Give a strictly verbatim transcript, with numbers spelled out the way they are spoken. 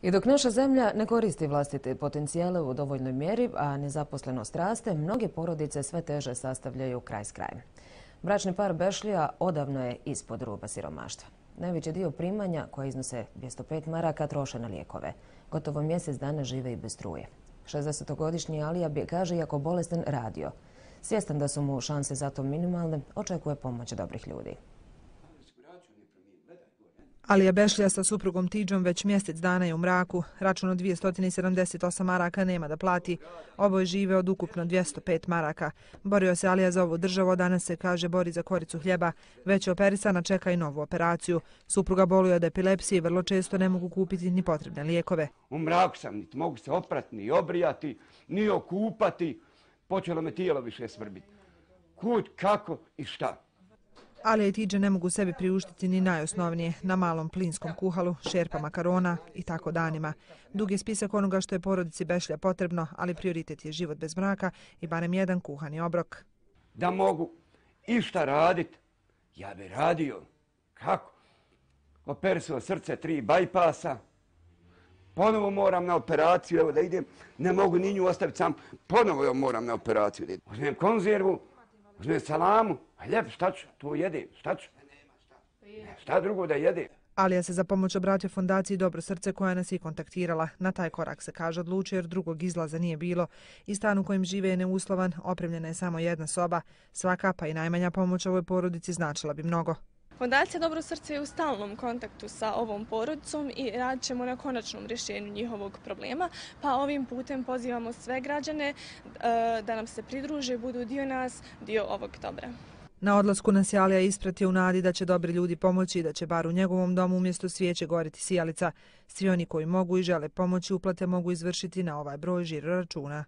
I dok naša zemlja ne koristi vlastite potencijale u dovoljnoj mjeri, a nezaposlenost raste, mnoge porodice sve teže sastavljaju kraj s krajem. Bračni par Bešlija odavno je ispod ruba siromaštva. Najveći dio primanja, koje iznose dvjesto pet maraka, troše na lijekove. Gotovo mjesec dana žive i bez struje. šezdesetogodišnji Alija bi, kaže, iako bolestan, radio. Svjestan da su mu šanse za to minimalne, očekuje pomoć dobrih ljudi. Alija Bešlija sa suprugom Tidžom već mjesec dana je u mraku. Račun od dvjesto sedamdeset osam maraka nema da plati. Oboje žive od ukupno dvjesto pet maraka. Borio se Alija za ovu državu, a danas se, kaže, bori za koricu hljeba. Već je operisana, čeka i novu operaciju. Supruga boluje od epilepsije i vrlo često ne mogu kupiti ni potrebne lijekove. U mraku sam, niti mogu se oprati, ni obrijati, ni okupati. Počelo me tijelo više svrbiti. Kud, kako i šta. Alija i Tidža ne mogu sebi priuštiti ni najosnovnije, na malom plinskom kuhalu, šerpa makarona i tako danima. Dug je spisak onoga što je porodici Bešlija potrebno, ali prioritet je život bez mraka i barem jedan kuhani obrok. Da mogu išta raditi, ja bi radio. Kako? Operisao srce, tri bajpasa. Ponovo moram na operaciju, evo da idem, ne mogu ni nju ostaviti sam, ponovo joj moram na operaciju. Uzmem konzervu, uzmem salamu, a ljep, šta ću, to jedem, šta ću? Šta drugo da jedem? Alija se za pomoć obratio fondaciji Dobro srce koja nas je kontaktirala. Na taj korak se, kaže, odlučio jer drugog izlaza nije bilo. I stan u kojem žive je neuslovan, opremljena je samo jedna soba. Svaka pa i najmanja pomoć ovoj porodici značila bi mnogo. Fondacija Dobro srce je u stalnom kontaktu sa ovom porodicom i radit ćemo na konačnom rješenju njihovog problema, pa ovim putem pozivamo sve građane da nam se pridruže, budu dio nas, dio ovog dobra. Na odlasku nas je Alija ispratio u nadi da će dobri ljudi pomoći i da će bar u njegovom domu umjesto svijeće goriti sijalica. Svi oni koji mogu i žele pomoći uplate mogu izvršiti na ovaj broj žiro računa.